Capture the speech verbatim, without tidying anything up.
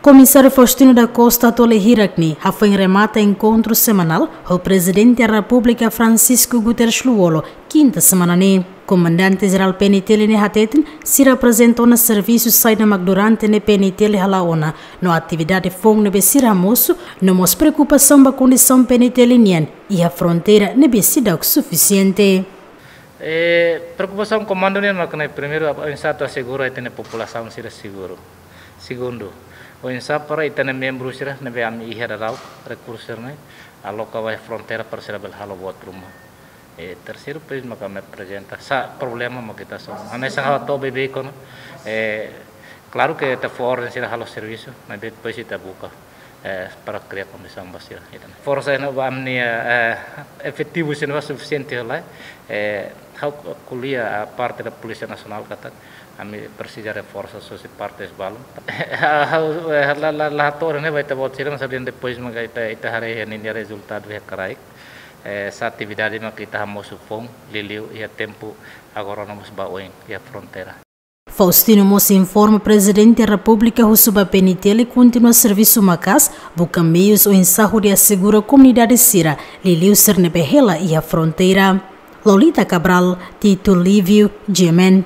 Komisáriu Faustino da Costa Tole Hirakni hafoin remata enkontru semanál ho Prezidente Repúblika Francisco Guterres Lú-Olo, kinta semana ne'e. Komandante Jerál P N T L ne'e hateten, sira aprezenta ona servisu saida mak durante ne'e P N T L hala'o ona, no atividade foun ne'ebé sira hamosu, no mós preokupasaun ba kondisaun P N T L nian iha fronteira ne'ebé seidauk sufisiente. Eh, preokupasaun komandu nian mak ne'e, primeiru, oinsá atu asegura ita-nia populasaun sira seguru. Segundu, oinsá para ita-nia membru sira ne'ebé ami iha daudaun, rekursu sira-ne'e aloka ba fronteira para sira bele halo buat ruma. Eh, terseiru, depois maka ami aprezenta sá problema mak ita hasoru. Ami hanesan halo to'o beibeik ona. Eh, klaru ke ita fó orden sira halo servisu, maibé depois ita buka, eh, para kria kondisaun ba sira. Ita forsa ne'e ba ami-nia, eh, efetivu sira ne'e sufisiente ka lae. Eh, ha'u ko'alia parte da Polísia Nasionál katak ami presiza reforsa husi parte balun. Ha'u, eh, la, la, la hato'o ne'e ba ita-boot sira, mas depois maka ita, ita haree ninia rezultadu iha kraik. Eh, sá atividade mak ita hamosu foun, liuliu iha tempu agora no mós ba oin iha fronteira. Faustino mós informa Prezidente Repúblika husu ba P N T L kontinua servisu maka'as, buka meius oinsá hodi asegura komunidade sira, liuliu sira ne'ebé hela iha fronteira. Lolita Cabral, Tito Livio, G M N.